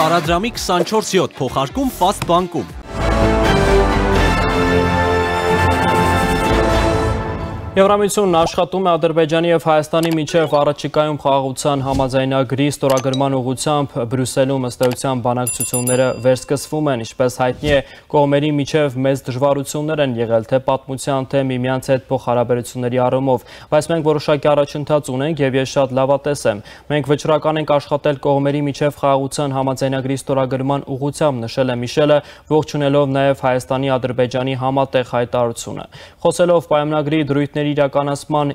Տարադրամի 24/7 փոխարկում Fast բանկում։ Եվրամիությունն աշխատում է Ադրբեջանի և Հայաստանի միջև առաջիկայում խաղաղության համաձայնագրի ստորագրման ուղղությամբ Բրյուսելում ըստ էության բանակցությունները վերսկսվում են, ինչպես հայտնի է, կողմերի միջև մեծ դժվարություններ են եղել թե պատմության, թե միմյանց հետ փոխհարաբերությունների առումով, բայց մենք որոշակի առաջընթաց ունենք և ես շատ լավատես եմ։ Մենք վճռական ենք աշխատել կողմերի միջև խաղաղության համաձայնագրի ստորագրման ուղղությամբ, նշել է Միշելը, ողջունելով նաև Հայաստանի Ադրբեջանի համատեղ հայտարարությունը։ Խոսելով պայմանագրի դրույթների իրականացման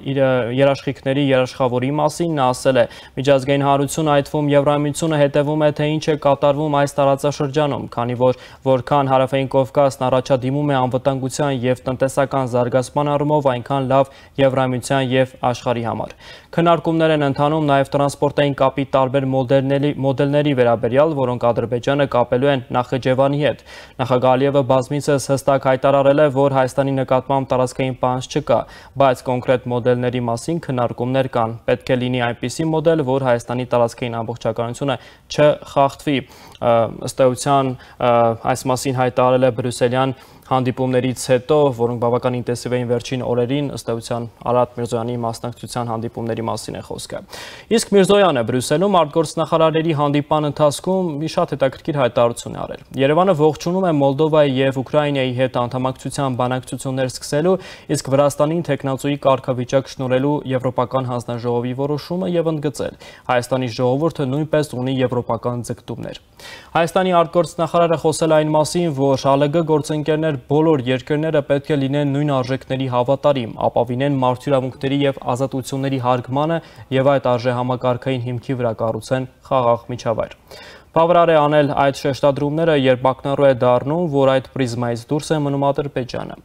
երաշխիքների երաշխավորի մասին նա ասել է. միջազգային հանրությունը, այդ թվում Եվրամիությունը հետևում է, թե ինչ է կատարվում այս տարածաշրջանում, քանի որ որքան Հարավային Կովկասն առաջադիմում է անվտանգության և տնտեսական զարգացման առումով, այնքան լավ Եվրամիության և աշխարհի համար։ Քննարկումներ են ընթանում նաև տրանսպորտային կապի տարբեր մոդելների վերաբերյալ, որոնք Ադրբեջանը կապելու են Նախիջևանի հետ։ Նախագահ Ալիևը բազմիցս հստակ հայտարարել է, որ Հայաստանի նկատմամբ տարածքային պահանջ չկա, բայց կոնկրետ մոդելների մասին քննարկումներ կան։ Պետք է լինի այնպիսի մոդել, որ Հայաստանի տարածքային ամբողջականությունը չխախտվի։ Ըստ էության այս մասին հայտարարել է բրյուսելյան հանդիպումներից հետո, որոնք բավական ինտենսիվ էին վերջին օրերին, ըստ էության Արադ Միրզոյանի մասնակցության հանդիպումների մասին է խոսքը։ Իսկ Միրզոյանը Բրյուսելում արտգործնախարարների հանդիպման ընթացքում մի շատ հետաքրքիր հայտարարություն է արել։ Երևանը ողջունում է Մոլդովայի և Ուկրաինայի հետ անդամակցության բանակցություններ սկսելու, իսկ Վրաստանին թեկնածուի կարգավիճակ շնորհելու Եվրոպական հանձնաժողովի որոշումը և ընդգծել. Հայաստանի ժողովուրդը նույնպես ունի եվրոպական ձգտումներ։ Հայաստանի արտգործնախարարը խոսել այն մասին, որ ՀԼԳ գործընկերներ բոլոր երկրները պետք է լինեն նույն արժեքների հավատարիմ, ապավինեն մարդու իրավունքների և ազատությունների հարգմանը և այդ արժեհամակարգային հիմքի վրա կառուցեն խաղաղ միջավայր։ Բավարար է անել այդ շեշտադրումները, երբ ակնառու է դառնում, որ այդ պրիզմայից դուրս է մնում Ադրբեջանը։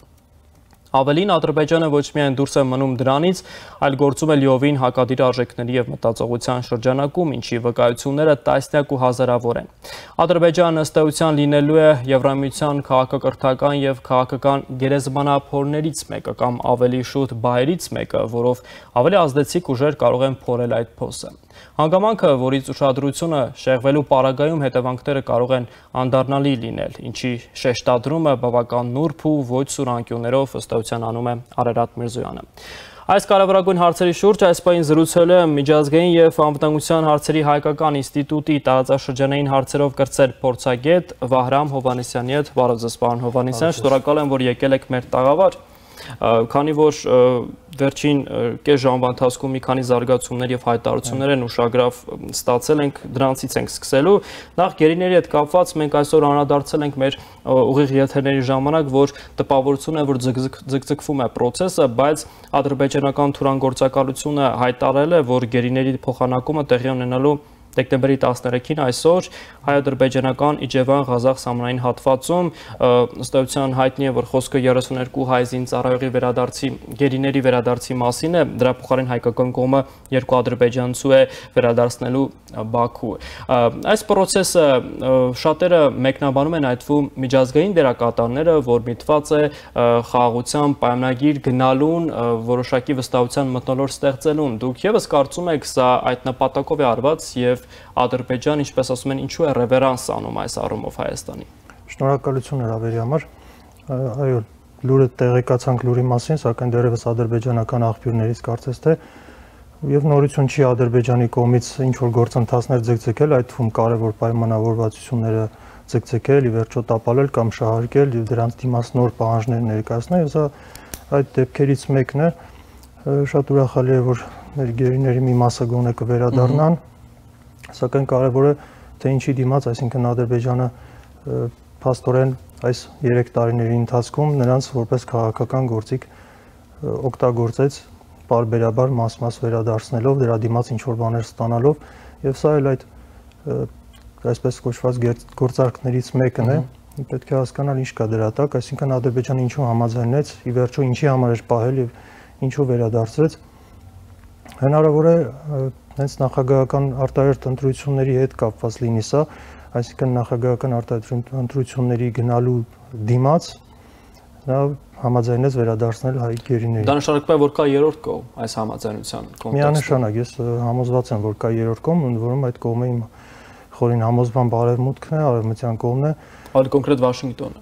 Ավելին, Ադրբեջանը ոչ միայն դուրս է մնում դրանից, այլ գործում է լիովին հակադիր արժեքների և մտածողության շրջանակում, ինչի վկայությունները տասնյակ ու հազարավոր են։ Ադրբեջանը ըստ էության լինելու է Եվրամիության քաղաքակրթական և քաղաքական գերեզմանափորներից մեկը կամ ավելի շուտ բահերից մեկը, որով ավելի ազդեցիկ ուժեր կարող են փորել այդ փոսը։ Հանգամանքը, որից ուշադրությունը շեղվելու պարագայում հետևանքները կարող են անդառնալի լինել, ինչի շեշտադրումը բավական նուրբ ու ոչ սուր անկյուններով ըստ էության անում է Արարատ Միրզոյանը։ Այս կարևորագույն հարցերի շուրջ այս պահին զրուցել է Միջազգային և անվտանգության հարցերի հայկական ինստիտուտի տարածաշրջանային հարցերով կրտսեր փորձագետ Վահրամ Հովհաննիսյանի հետ։ Բարև ձեզ, պարոն Հովհաննիսյան, շնորհակալ եմ, որ եկել եք մեր տաղավար։ Քանի որ վերջին կես ժամվա ընթացքում մի քանի զարգացումներ և հայտարարություններ են ուշագրավ ստացել ենք, դրանցից ենք սկսելու։ Նախ գերիների հետ կապված մենք այսօր անդրադարձել ենք մեր ուղիղ եթերների ժամանակ, որ տպավորություն է, որ ձգձգվում է process-ը, բայց ադրբեջանական թուրանգործակալությունը հայտարարել է, որ գերիների փոխանակումը տեղի ունենալու դեկտեմբերի 13-ին այսօր հայ-ադրբեջանական Իջևան-Ղազախ սահմանային հատվածում ըստ էության հայտնի է, որ խոսքը 32 հայ զինծառայողի գերիների վերադարձի մասին է, դրա փոխարեն հայկական կողմը 2 ադրբեջանցու է վերադարձնելու Բաքու։ Այս process-ը շատերը մեկնաբանում են այդ թվում միջազգային դերակատարները, որ միտված է խաղաղության պայմանագիր գնալուն, որոշակի վստահության մթնոլորտ ստեղծելուն։ Դուք ևս կարծում եք սա այդ նպատակով է արված և Ադրբեջան, ինչպես ասում են, ինչու է ռևերանս անում այս առումով Հայաստանի։ Շնորհակալություն հրավերի համար։ Այո, լուրը տեղեկացանք լուրի մասին, սակայն դեռևս ադրբեջանական աղբյուրներից կարծես թե եւ նորություն չի Ադրբեջանի կողմից ինչ որ գործընթացներ ձգձգել, այդ թվում կարևոր պայմանավորվածությունները ձգձգել, ի վերջո տապալել կամ շահարկել եւ դրանց դիմաց նոր պահանջներ ներկայացնել, եւ սա այդ դեպքերից մեկն է։ Շատ ուրախալի է, որ մեր գերիների մի մասը գոնե կվերադառնան, սակայն կարևոր է թե ինչի դիմաց, այսինքն Ադրբեջանը փաստորեն այս 3 տարիների ընթացքում նրանց որպես քաղաքական գործիք օգտագործեց բարբերաբար մաս-մաս վերադարձնելով, դրա դիմաց ինչ-որ բաներ ստանալով, եւ սա էլ այդ այսպես կոչված գործարքներից մեկն է, պետք է հասկանալ ինչ կա դրա տակ, այսինքն Ադրբեջանը ինչու համաձայնեց, ի վերջո ինչի համար էր պահել եւ ինչու վերադարձրեց։ Հնարավոր է հենց նախագահական արտահերթ ընտրությունների հետ կապված լինի սա, այսինքն նախագահական արտահերթ ընտրությունների գնալու դիմաց նա համաձայնեց վերադարձնել հայ գերիներին։ Դա նշանակում է, որ կա երրորդ կողմ այս համաձայնության կոնտեքստում։ Միանշանակ, ես համոզված եմ, որ կա երրորդ կողմ, ընդ որում այդ կողմը իմ նախորին համոզման բարևմուտքն է, արևմտյան կողմն է։ Ավելի կոնկրետ Վաշինգտոնը,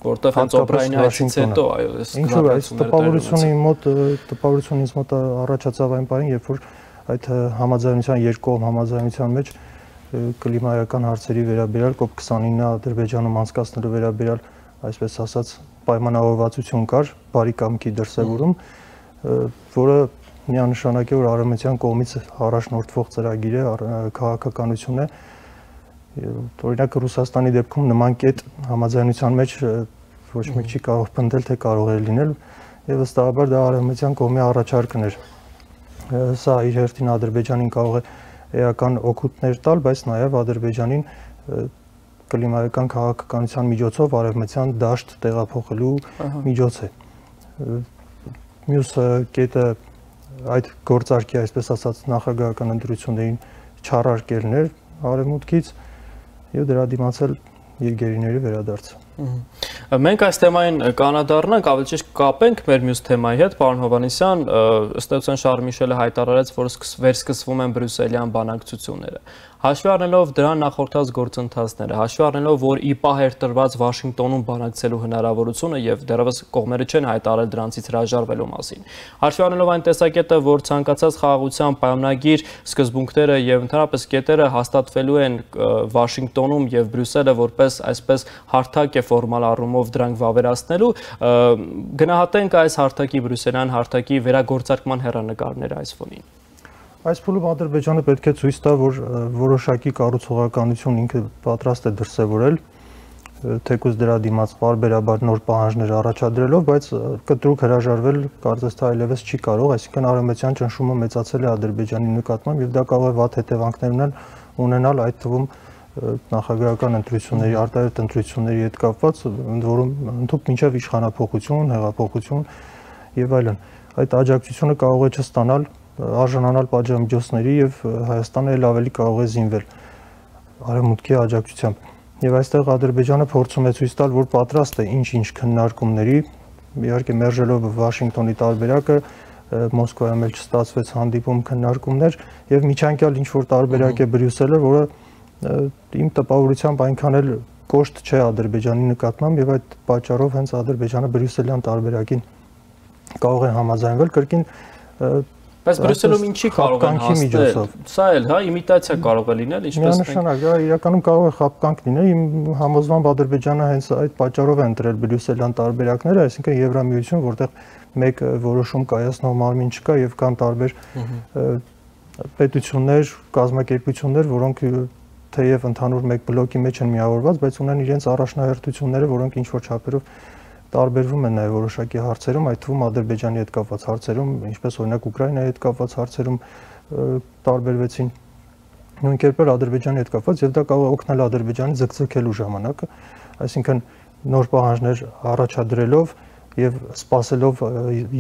որտեղ հենց Օբրայնի այցից հետո այո, այս տպավորությունն ինձ մոտ առաջացավ այն պահին, երբ որ այդ համաձայնության երկկողմ համաձայնության մեջ կլիմայական հարցերի վերաբերյալ COP29-ը Ադրբեջանում անցկացնելու վերաբերյալ, այսպես ասած, պայմանավորվածություն կար, բարի կամքի դրսևորում, որը միանշանակ է, որ արևմտյան կողմից առաջնորդվող ծրագիր է, քաղաքականություն է։ Օրինակ Ռուսաստանի դեպքում նման կետ համաձայնության մեջ ոչ մեկ չի կարող պնդել, թե կարող է լինել, եւ վստահաբար դա արևմտյան կողմի առաջարկն էր։ Սա իր հերթին Ադրբեջանին կարող է էական օգուտներ տալ, բայց նաև Ադրբեջանին կլիմայական քաղաքականության միջոցով արևմտյան դաշտ տեղափոխելու միջոց է։ Մյուս կետը այդ գործարքի, այսպես ասած, նախագահական ընտրություններին չառարկելն էր արևմուտքից եւ դրա դիմացել երկերիների վերադարձը։ Մենք այս թեմային կանադառնանք, ավելի ճիշտ կապենք մեր մյուս թեմայի հետ, պարոն Հովհաննիսյան, ըստ էության Շարլ Միշելը հայտարարեց, որ վերսկսվում են բրյուսելյան բանակցությունները։ Հաշվի առնելով դրան նախորդած գործընթացները, հաշվի առնելով, որ ԻՊԱ էր տրված Վաշինգտոնում բանակցելու հնարավորությունը եւ դեռևս կողմերը չեն հայտարարել դրանցից հրաժարվելու մասին։ Հաշվի առնելով այն տեսակետը, որ ցանկացած խաղաղության պայմանագիր սկզբունքները եւ ընդհանրապես կետերը հաստատվելու են Վաշինգտոնում եւ Բրյուսելը որպես այսպես հարթակ է ֆորմալ առումով դրանք վավերացնելու, գնահատենք այս հարթակի բրյուսելյան հարթակի վերագործարկման հեռանկարները այս ֆոնին։ Այս փուլում Ադրբեջանը պետք է ցույց տա, որ որոշակի կառուցողականություն ինքը պատրաստ է դրսևորել, թեկուզ դրա դիմաց բարբերաբար նոր պահանջներ առաջադրելով, բայց կտրուկ հրաժարվել կարծես թե այլևս չի կարող, այսինքն արևմտյան ճնշումը մեծացել է Ադրբեջանի նկատմամբ եւ դա կարող է վատ հետևանքներ ունենալ այդ թվում նախագահական ընտրությունների, արտահերթ ընտրությունների հետ կապված, ընդ որում ընդհանուր մինչև իշխանափոխություն, հեղափոխություն եւ այլն։ Այդ աջակցությունը կարող է չստանալ, արժանանալ պատժամիջոցների եւ Հայաստանը ել ավելի կարող է զինվել արևմուտքի աջակցությամբ։ Եվ այստեղ Ադրբեջանը փորձում է ցույց տալ, որ պատրաստ է ինչ-ինչ քննարկումների, իհարկե մերժելով Վաշինգտոնի տարբերակը, Մոսկվայում էլ չստացվեց հանդիպում քննարկումներ եւ միջանկյալ ինչ-որ տարբերակ է Բրյուսելը, որը իմ տպավորությամբ այնքան էլ կոշտ չէ Ադրբեջանի նկատմամբ եւ այդ պատճառով հենց Ադրբեջանը Բրյուսելյան տարբերակին կարող է համաձայնվել կրկին Բայց Բրյուսելում ինչի կարող են հասնել։ Սա էլ, հա, իմիտացիա կարող է լինել, ինչպես միանշանակ, դա իրականում կարող է խաբկանք լինել։ Իմ համոզմամբ Ադրբեջանը հենց այդ պատճառով է ընտրել Բրյուսելյան տարբերակները, այսինքն Եվրամիություն, որտեղ մեկ որոշում կայացնող մարմին չկա եւ կան տարբեր պետություններ, կազմակերպություններ, որոնք թեև ընդհանուր մեկ բլոկի մեջ են միավորված, բայց ունեն իրենց առաջնահերթությունները, որոնք ինչ որ չափերով տարբերվում են նաև որոշակի հարցերում, այդ թվում Ադրբեջանի հետ կապված հարցերում, ինչպես օրինակ Ուկրաինայի հետ կապված հարցերում տարբերվեցին նույն կերպ Ադրբեջանի հետ կապված եւ դա կարող է օգնել Ադրբեջանի ձգձգելու ժամանակը, այսինքն նոր պահանջներ առաջադրելով եւ սպասելով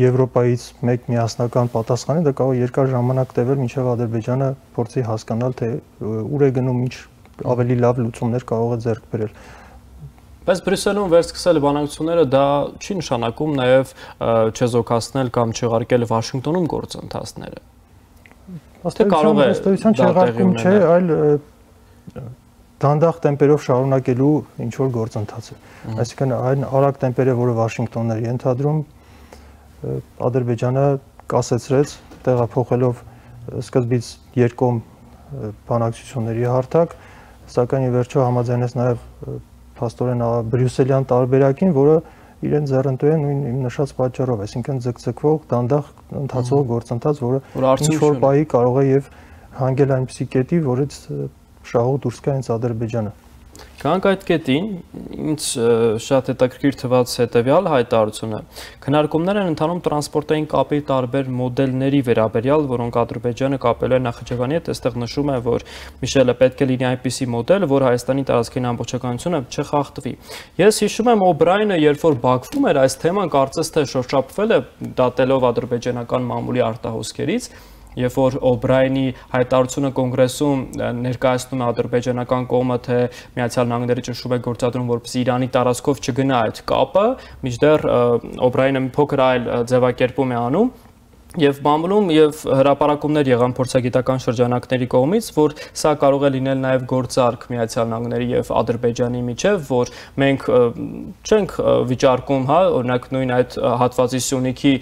Եվրոպայից մեկ միասնական պատասխանի, դա կարող է երկար ժամանակ տևել, մինչեւ Ադրբեջանը փորձի հասկանալ, թե ուր է գնում, ինչ ավելի լավ լուծումներ կարող է ձեռք բերել։ Բայց Բրյուսելում վերսկսել բանակցությունները դա չի նշանակում նաև չեզոքացնել կամ չեղարկել Վաշինգտոնում գործընթացները։ Թե կարող է չեղարկում չէ, այլ դանդաղ տեմպերով շարունակելու ինչ որ գործընթաց է։ Այսինքն այն արագ տեմպերը, որը Վաշինգտոնն էր ենթադրում, Ադրբեջանը կասեցրեց, տեղափոխելով սկզբից երկկողմ բանակցությունների հարթակ, սակայն ի վերջո համաձայնեց նաև փաստորեն Բրյուսելյան տարբերակին, որը իրեն ձեռնտու է նույն իմ նշած պատճառով, այսինքն ձգձգվող, դանդաղ ընթացող գործընթաց, որը ինչ-որ պահի կարող է եւ հանգել այնպիսի կետի, որից շահող դուրս գա հենց Ադրբեջանը։ Գանք այդ կետին, ինձ շատ հետաքրքիր թվաց հետևյալ հայտարարությունը։ Քննարկումներ են ընթանում տրանսպորտային կապի տարբեր մոդելների վերաբերյալ, որոնք Ադրբեջանը կապել է Նախիջևանի հետ, այստեղ նշում է, որ Միշելը պետք է լինի այնպիսի մոդել, որ Հայաստանի տարածքային ամբողջականությունը չխախտվի։ Ես հիշում եմ Օբրայնը, երբ որ Բաքվում էր, այս թեման կարծես թե շոշափվել է դատելով ադրբեջանական մամուլի արտահոսքերից, երբ որ Օբրայնի հայտարարությունը կոնգրեսում ներկայացնում է ադրբեջանական կողմը, թե Միացյալ Նահանգները ճնշում է գործադրում, որպեսզի Իրանի տարածքով չգնա այդ կապը, մինչդեռ Օբրայնը մի փոքր այլ ձևակերպում է անում, Եվ բամբլում եւ հրապարակումներ եղան փորձագիտական շրջանակների կողմից, որ սա կարող է լինել նաեւ գործարք Միացյալ Նահանգների եւ Ադրբեջանի միջեւ, որ մենք չենք վիճարկում, հա, օրինակ նույն այդ հատվածի Սյունիքի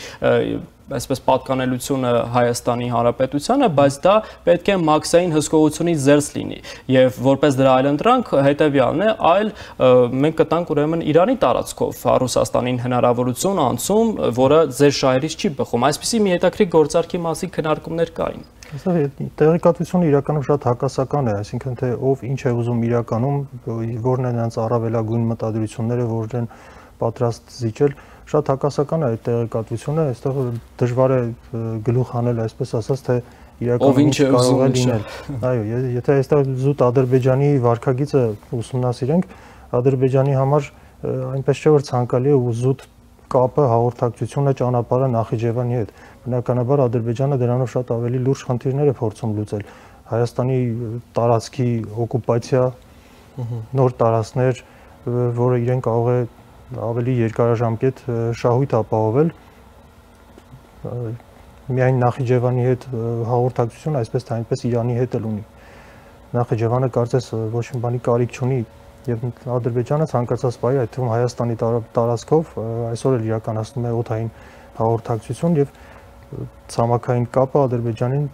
այսպես պատկանելությունը Հայաստանի Հանրապետությանը, բայց դա պետք է մաքսային հսկողությունից զերծ լինի եւ որպես դրա այլընտրանք հետեւյալն է, այլ մենք կտանք ուրեմն Իրանի տարածքով Ռուսաստանին հնարավորություն անցում, որը ձեր շահերից չի բխում։ Այսպիսի մի հետաքրքիր գործարքի մասին քննարկումներ կային։ Այստեղ տեղեկատվությունը իրականում շատ հակասական է, այսինքն թե ով ինչ է ուզում իրականում, որն են նրանց առավելագույն մտադրությունները, որն են պատրաստ զիջել, շատ հակասական է այդ տեղեկատվությունը, այստեղ դժվար է գլուխ հանել, այսպես ասած, թե իրականում ինչ կարող է լինել։ Այո, եթե այստեղ զուտ Ադրբեջանի վարքագիծը ուսումնասիրենք, Ադրբեջանի համար այնպես չէ որ ցանկալի է ու զուտ կապը, հաղորդակցությունը, ճանապարհը Նախիջևանի հետ։ Բնականաբար Ադրբեջանը դրանով շատ ավելի լուրջ խնդիրներ է փորձում լուծել։ Հայաստանի տարածքի օկուպացիա, նոր տարածքներ, որը իրեն կարող է ավելի երկարաժամկետ շահույթ ապահովել, միայն Նախիջևանի հետ հաղորդակցություն, այսպես թե այնպես Իրանի հետ էլ ունի։ Նախիջևանը կարծես ոչ մի բանի կարիք չունի եւ Ադրբեջանը ցանկացած բայ, այդ թվում Հայաստանի տարածքով այսօր էլ իրականացնում է օդային հաղորդակցություն եւ ցամաքային կապը Ադրբեջանին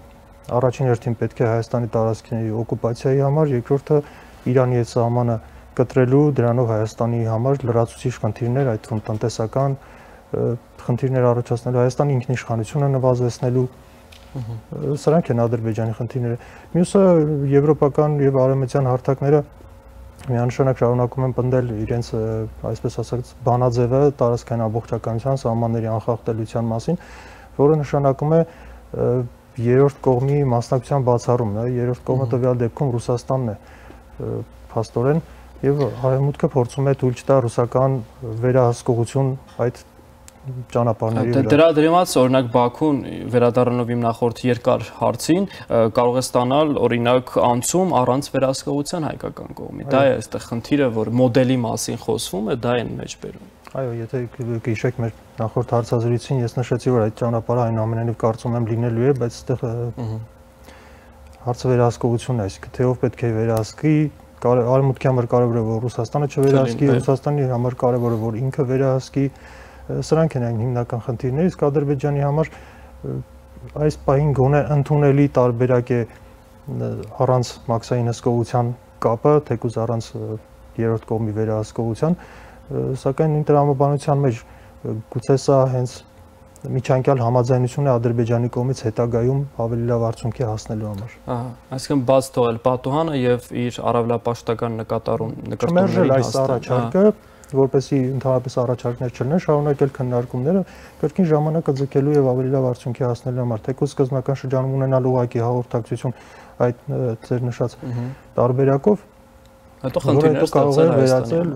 առաջին հերթին պետք է Հայաստանի տարածքի օկուպացիայի համար, երկրորդը Իրանի հետ սահմանը կտրելու, դրանով Հայաստանի համար լրացուցիչ խնդիրներ, այդ թվում տնտեսական խնդիրներ առաջացնելու, Հայաստանի ինքնիշխանությունը նվազեցնելու, սրանք են Ադրբեջանի խնդիրները։ Մյուսը եվրոպական եւ արևմտյան հարթակները միանշանակ շարունակում են պնդել իրենց, այսպես ասած, բանաձևը տարածքային ամբողջականության, սահմանների անխախտելիության մասին, որը նշանակում է երրորդ կողմի մասնակցության բացառումն է, երրորդ կողմը տվյալ դեպքում Ռուսաստանն է փաստորեն, եւ Արևմուտքը փորձում է թույլ չտա ռուսական վերահսկողություն այդ ճանապարհների վրա։ Դրա դրիմաց օրինակ Բաքուն վերադառնալով իմ նախորդ երկար հարցին կարող է ստանալ օրինակ անցում առանց վերահսկողության հայկական կողմի։ Դա է այստեղ խնդիրը, որ մոդելի մասին խոսվում է, դա են մեջ բերում։ Այո, եթե գիշեք մեր նախորդ հարցազրույցին ես նշեցի, որ այդ ճանապարհը այնուամենայնիվ կարծում եմ լինելու է, բայց այստեղ հարցը վերահսկողությունն է, այսինքն թե ով պետք է վերահսկի, Արևմուտքի համար կարևոր է որ Ռուսաստանը չվերահսկի, Ռուսաստանի համար կարևոր է որ ինքը վերահսկի, սրանք են այն հիմնական խնդիրները, իսկ Ադրբեջանի համար այս պահին գոնե ընդունելի տարբերակ է առանց մաքսային հսկողության կապը, թեկուզ առանց երրորդ կողմի վերահսկողության, սակայն նույն տրամաբանության մեջ գուցե սա հենց միջանկյալ համաձայնություն է Ադրբեջանի կողմից հետագայում ավելի լավ արդյունքի հասնելու համար։ Ահա, այսինքն բաց թողել պատուհանը եւ իր առավելապաշտական նկատառումների այս առաջարկը, որպեսզի ընդհանրապես առաջարկներ չլինեն, շարունակել քննարկումները, կրկին ժամանակը ձգելու եւ ավելի լավ արդյունքի հասնելու համար, թեկուզ սկզբնական շրջանում ունենալ ուղղակի հաղորդակցություն այդ ձեր նշած տարբերակով, հետո խնդիրներ կարող է վերածել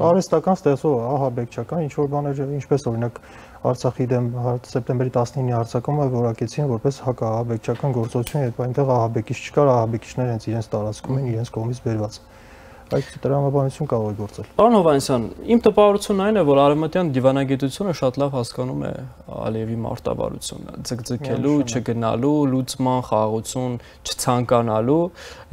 արհեստական ստեղծող ահաբեկչական ինչ որ բաներ, ինչպես օրինակ Արցախի դեմ սեպտեմբերի 19-ի հարձակումը որակեցին որպես հակաահաբեկչական գործողություն, երբ այնտեղ ահաբեկիչ չկար, ահաբեկիչները հենց իրենց տարածքում են, իրենց կողմից բերված։ Այդ տրամաբանություն կարող է գործել։ Պարոն Հովհաննիսյան, իմ տպավորությունն այն է, որ արևմտյան դիվանագիտությունը շատ լավ հասկանում է Ալիևի մարտավարությունը, ձգձգելու, չգնալու, լուծման, խաղաղություն չցանկանալու,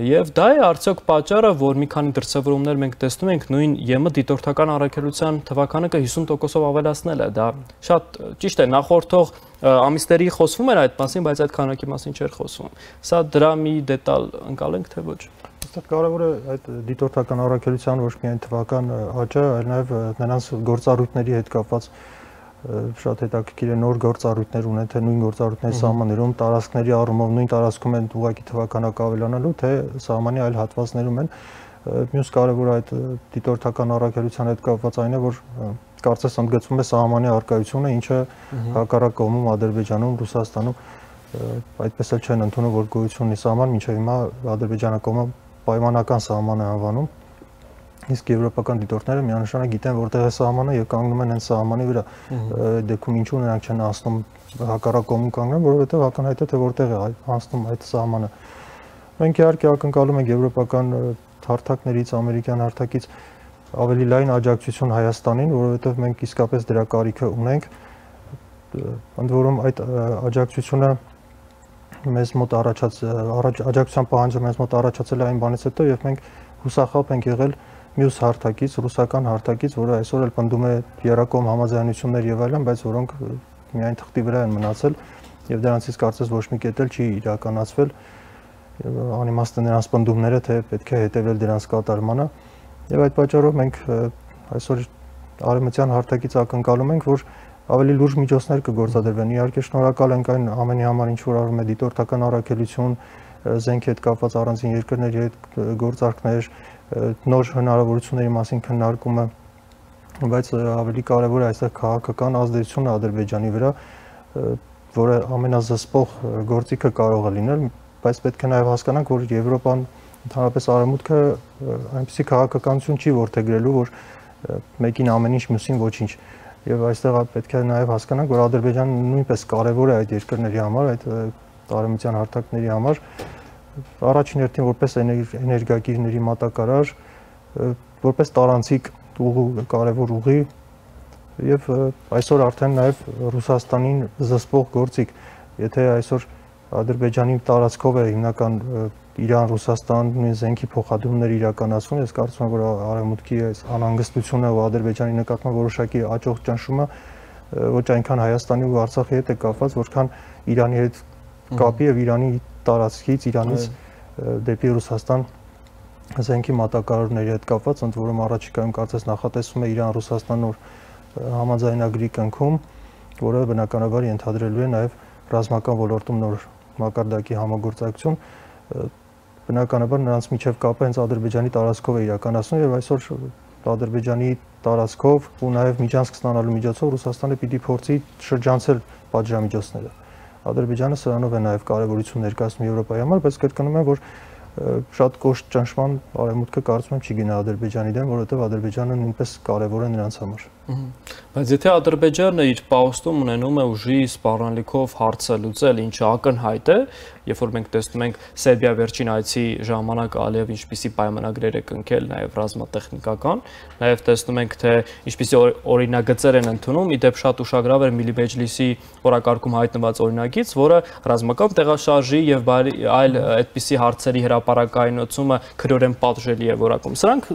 եւ դա է արդյոք պատճառը, որ մի քանի դրսևորումներ մենք տեսնում ենք նույն ԵՄ դիտորդական առաքելության թվականը 50%-ով ավելացնել է, դա շատ ճիշտ է, նախորդող ամիսների խոսվում էր այդ մասին, բայց այդ քանակի մասին չէր խոսվում։ Սա դրա մի դետալ ընկալենք թե ոչ։ Այստեղ կարևոր է այդ դիտորդական առաքելության ոչ միայն թվական աճը, այլ նաև նրանց գործառույթների հետ կապված շատ հետաքրքիր է նոր գործառույթներ ունեն, թե նույն գործառույթների սահմաններում, տարածքների առումով նույն տարածքում են ուղղակի թվականակը ավելանալու, թե սահմանի այլ հատվածներում են։ Մյուս կարևոր այդ դիտորդական առաքելության հետ կապված այն է, որ կարծես ընդգծվում է սահմանի առկայությունը, ինչը հակառակ կողմում Ադրբեջանում, Ռուսաստանում այդպես էլ չեն ընդունում, որ գոյություն ունի սահման, մինչև հիմա Ադրբեջանը կողմը պայմանական սահման է անվանում, իսկ եվրոպական դիտորդները միանշանակ գիտեն որտեղ է սահմանը եւ կանգնում են հենց սահմանի վրա։ Դեպքում ինչու նրանք չեն անցնում հակառակ կողմում կանգնեն, որովհետեւ ակնհայտ է թե որտեղ է անցնում այդ սահմանը։ Մենք իհարկե ակնկալում ենք եվրոպական հարթակներից, ամերիկյան հարթակից ավելի լայն աջակցություն Հայաստանին, որովհետեւ մենք իսկապես դրա կարիքը ունենք։ ընդ որում այդ աջակցությունը մեզ մոտ աջակցության պահանջը մեզ մոտ առաջացել է այն բանից հետո եւ մենք հուսախաբ ենք եղել մյուս հարթակից, ռուսական հարթակից, որը այսօր էլ պնդում է երակոմ համաձայնություններ եւ այլն, բայց որոնք միայն թղթի վրա են մնացել եւ դրանցից կարծես ոչ մի կետ էլ չի իրականացվել։ Անիմաստ են նրանց պնդումները, թե պետք է հետեւել դրանց կատարմանը եւ այդ պատճառով մենք այսօր արևմտյան հարթակից ակնկալում ենք, որ ավելի լուրջ միջոցներ կգործադրվեն։ Իհարկե շնորհակալ ենք այն ամենի համար, ինչ որ արվում է դիտորդական առաքելություն, զենքի հետ կապված առանձին երկրների հետ գործարքներ, նոր հնարավորությունների մասին քննարկումը, բայց ավելի կարևոր է այստեղ քաղաքական ազդեցությունը Ադրբեջանի վրա, որը ամենազսպող գործիքը կարող է լինել, բայց պետք է նաև հասկանանք, որ Եվրոպան, ընդհանրապես Արևմուտքը այնպիսի քաղաքականություն չի որդեգրելու, որ մեկին ամեն ինչ, մյուսին ոչինչ։ Եվ այստեղ պետք է նաև հասկանանք, որ Ադրբեջանը նույնպես կարևոր է այդ երկրների համար, այդ արևմտյան հարթակների համար, առաջին հերթին որպես էներգակիրների մատակարար, որպես տարանցիկ կարևոր ուղի եւ այսօր արդեն նաև Ռուսաստանին զսպող գործիք, եթե այսօր Ադրբեջանի տարածքով է հիմնական Իրան-Ռուսաստան նույն զենքի փոխադրումներ իրականացվում, ես կարծում եմ, որ Արևմուտքի այս անհանգստությունը ու Ադրբեջանի նկատմամբ որոշակի աճող ճնշումը ոչ այնքան Հայաստանի ու Արցախի հետ է կապված, որքան Իրանի հետ կապի եւ Իրանի տարածքից, Իրանից դեպի Ռուսաստան զենքի մատակարարների հետ կապված, ընդ որում առաջիկայում կարծես նախատեսվում է Իրան-Ռուսաստան նոր համաձայնագրի կնքում, որը բնականաբար ենթադրելու է նաև ռազմական ոլորտում նոր մակարդակի համագործակցություն, բնականաբար նրանց միջև կապը հենց Ադրբեջանի տարածքով է իրականացնում եւ այսօր Ադրբեջանի տարածքով ու նաև միջանցք ստանալու միջոցով Ռուսաստանը պիտի փորձի շրջանցել պատժամիջոցները։ Ադրբեջանը սրանով է նաև կարևորություն ներկայացնում Եվրոպայի համար, բայց կրկնում եմ, որ շատ կոշտ ճնշման Արևմուտքը կարծում եմ չի գնա Ադրբեջանի դեմ, որովհետև Ադրբեջանը նույնպես կարևոր է նրանց համար։ Բայց եթե Ադրբեջանը իր պահոստում ունենում է ուժի սպառնալիքով հարցը լուծել, ինչը ակնհայտ է, երբ որ մենք տեսնում ենք Սերբիա վերջին այցի ժամանակ Ալիև ինչպիսի պայմանագրեր է կնքել, նաև ռազմատեխնիկական, նաև տեսնում ենք, թե ինչպիսի օրինագծեր են ընդունում, ի դեպ շատ ուշագրավ էր Միլի Մեջլիսի օրակարգում հայտնված օրինագիծ, որը ռազմական տեղաշարժի եւ այլ այդպիսի հարցերի հրապարակայնացումը քրորեն պատժելի է որակում։ Սրանք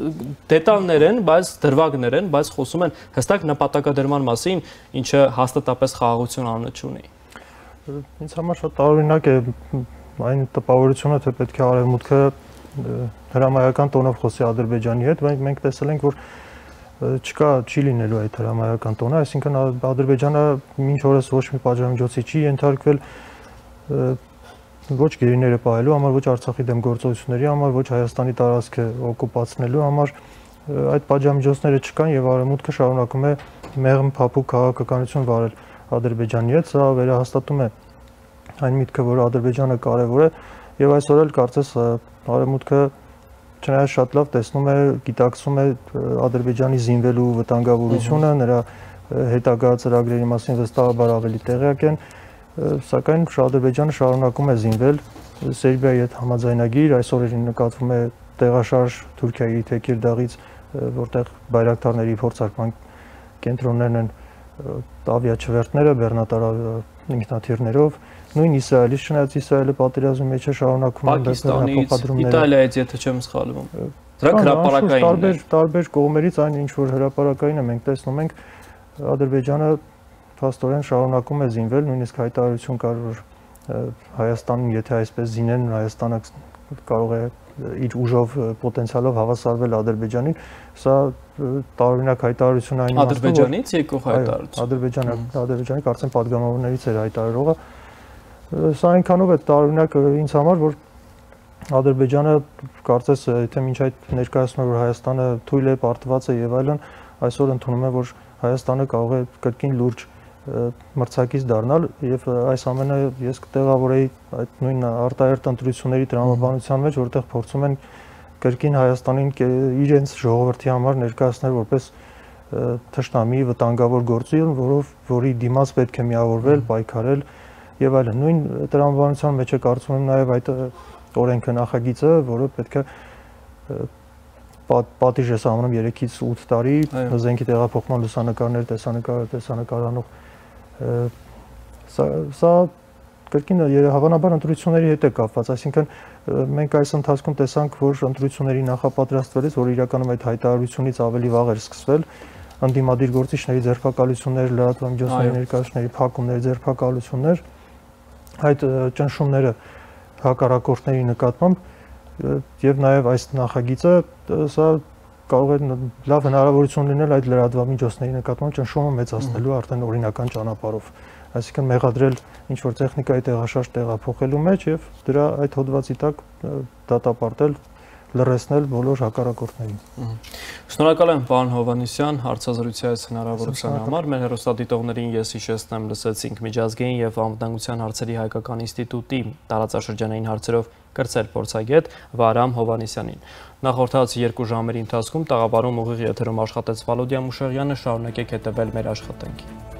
դետալներ են, բայց դրվագներ են, բայց խոսում են հստակ նպատակադրման մասին, ինչը հաստատապես խաղաղություն անունը չունի։ Ինձ համար շատ տարօրինակ է այն տպավորությունը, թե պետք է Արևմուտքը հրամայական տոնով խոսի Ադրբեջանի հետ, մենք տեսել ենք, որ չի լինելու այդ հրամայական տոնը, այսինքն Ադրբեջանը մինչ օրս ոչ մի պատժամիջոցի չի ենթարկվել ոչ գերիները պահելու համար, ոչ Արցախի դեմ գործողությունների համար, ոչ Հայաստանի տարածքը օկուպացնելու համար, այդ պատժամիջոցները չկան եւ Արևմուտքը շարունակում է մեղմ փափուկ քաղաքականություն վարել Ադրբեջանի հետ, սա վերահաստատում է այն միտքը, որ Ադրբեջանը կարևոր է եւ այսօր էլ կարծես Արևմուտքը չնայած շատ լավ տեսնում է, գիտակցում է Ադրբեջանի զինվելու վտանգավորությունը, նրա հետագա ծրագրերի մասին վստահաբար ավելի տեղյակ են, սակայն Ադրբեջանը շարունակում է զինվել Սերբիայի հետ համաձայնագիր, այսօր նկատվում է տեղաշարժ Թուրքիայի Թեկիրդաղից, որտեղ բայրակտարների փորձարկման կենտրոններն են ավիաչվերթները, բեռնատար ինքնաթիռներով, նույն Իսրայելից, չնայած Իսրայելը պատերազմի մեջ է շարունակում Պակիստանից, Իտալիայից, եթե չեմ սխալվում։ Դրանք հրապարակային են։ Տարբեր կողմերից այն ինչ որ հրապարակային է, մենք տեսնում ենք Ադրբեջանը փաստորեն շարունակում է զինվել, նույնիսկ հայտարարություն կար, որ Հայաստանին, եթե այսպես զինեն, Հայաստանը կարող է իր ուժով պոտենցիալով հավասարվել Ադրբեջանին, սա տարօրինակ հայտարարություն այն իմաստով, Ադրբեջանից եկող հայտարարություն։ Ադրբեջանի կարծեմ падգամավորներից էր հայտարարողը, սա այնքանով է տարօրինակ ինձ համար, որ Ադրբեջանը կարծես եթե մինչ այդ ներկայացնում է, որ Հայաստանը թույլ է, պարտված է եւ այլն, այսօր ընդունում է, որ Հայաստանը կարող է կրկին լուրջ մրցակից դառնալ եւ այս ամենը ես կտեղավորեի այդ նույն արտահերտ ընտրությունների տրամաբանության մեջ, որտեղ փորձում են կրկին Հայաստանին իրենց ժողովրդի համար ներկայացնել որպես թշնամի վտանգավոր գործի, որի դիմաց պետք է միավորվել, պայքարել եւ այլն։ Նույն տրամաբանության մեջ է կարծում եմ նաեւ այդ օրենքը նախագիծը, որը պետք է պատիժ է սահմանում 3-ից 8 տարի զենքի տեղափոխման լուսանկարներ տեսանկարանող Սա կրկին հավանաբար ընտրությունների հետ է կապված, այսինքն մենք այս ընթացքում տեսանք, որ ընտրությունների նախապատրաստվելիս, որ իրականում այդ հայտարարությունից ավելի վաղ էր սկսվել, ընդդիմադիր գործիչների ձերբակալություններ, լրատվամիջոցների ներկայացուցիչների փակումներ, ձերբակալություններ, այդ ճնշումները հակառակորդների նկատմամբ եւ նաեւ այս նախագիծը սա կարող է լավ հնարավորություն լինել այդ լրատվամիջոցների նկատմամբ ճնշումը մեծացնելու արդեն օրինական ճանապարհով, այսինքն մեղադրել ինչ-որ տեխնիկայի տեղաշարժ տեղափոխելու մեջ եւ դրա այդ հոդվածի տակ դատապարտել, լրացնել բոլոր հակառակորդներին։ Շնորհակալ եմ, պարոն Հովհաննիսյան, հարցազրույցի այս հնարավորության համար։ Մեր հեռուստադիտողներին ես հիշեցնեմ, լսեցինք Միջազգային եւ անվտանգության հարցերի հայկական ինստիտուտի տարածաշրջանային հարցերով կրծել փորձագետ Վահրամ Հովհաննիսյանին։ Նախորդած 2 ժամերի ընթացքում տաղավարում ուղիղ եթերում աշխատեց Վալոդիա Մուշեղյանը, շարունակեք հետևել մեր աշխատանքին։